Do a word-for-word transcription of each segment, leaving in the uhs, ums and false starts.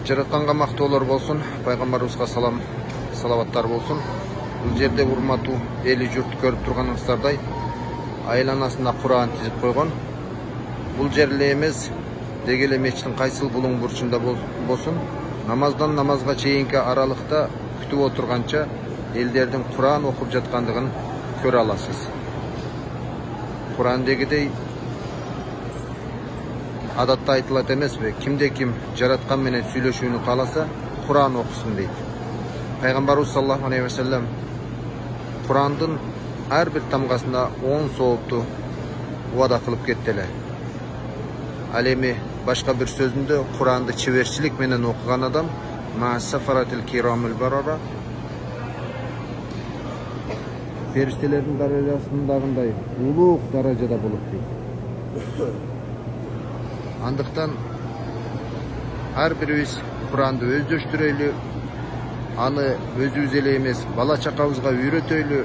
Жаратканга мактоолор болсун, пайгамбарыбызга салам, салаваттар болсун. Бул жерде урматтуу эли журт көрүп турганыңыздардай айланасына Куран тизип койгон. Бул жер эле эмес, деги эле мечиттин кайсыл булуң бурчунда болсун, намаздан намазга чейинки аралыкта күтүп отурганча элдердин Куран окуп жаткандыгын көрө аласыз. Курандегидей адатта айтылат эмеспи, кимде ким жараткан менен сүйлөшүүнү кааласа, Куран окусун дейт. Пайгамбарыбыз саллаллаху алейхи ва саллям Курандын ар бир тамгасына он соопту убада кылып кетти эле. Ал эми башка бир сөзүндө Куранды чеберчилик менен окуган адам ма сафаратил кирамил барара периштелердин даражасындагындай улуу даражада болот дейт. Андыктан ар бирибиз Куранды өздөштүрөлү, аны өзүбүз эле эмес, бала чакабызга үйрөтөлү.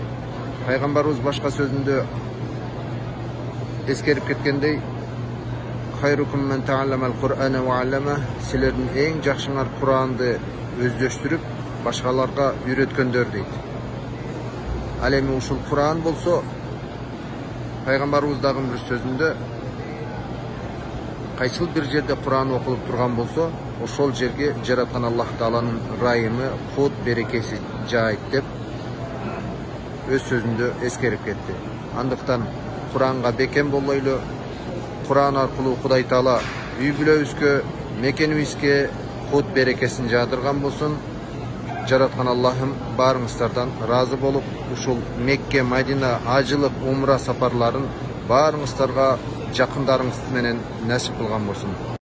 Пайгамбарыбыз башка сөзүндө эскерип кеткендей, хайрукум мен таалламал Кур'ана ва аллама, силердин эң жакшыңар Куранды өздөштүрүп, башкаларга үйрөткөндөр дейт. Ал эми ушул Куран болсо, пайгамбарыбыз дагы бир сөзүндө кайсыл бир жерде Куран окулуп турган болсо, ошол жерге жараткан Аллах Тааланын райымы, кут, берекеси жаайт деп өз сөзүндө эскерип кетти. Андыктан Куранга бекем болойлу. Куран аркылуу Кудай Таала үй бүлөбүзгө, мекенибизге кут, берекесин жаадырган болсун. Жараткан Аллахым баарыңыздардан разы болуп, ушул Мекке, Мадина, ажылык, умра сапарларын баарыңыздарга жакындарыңыз менен насип кылган болсун.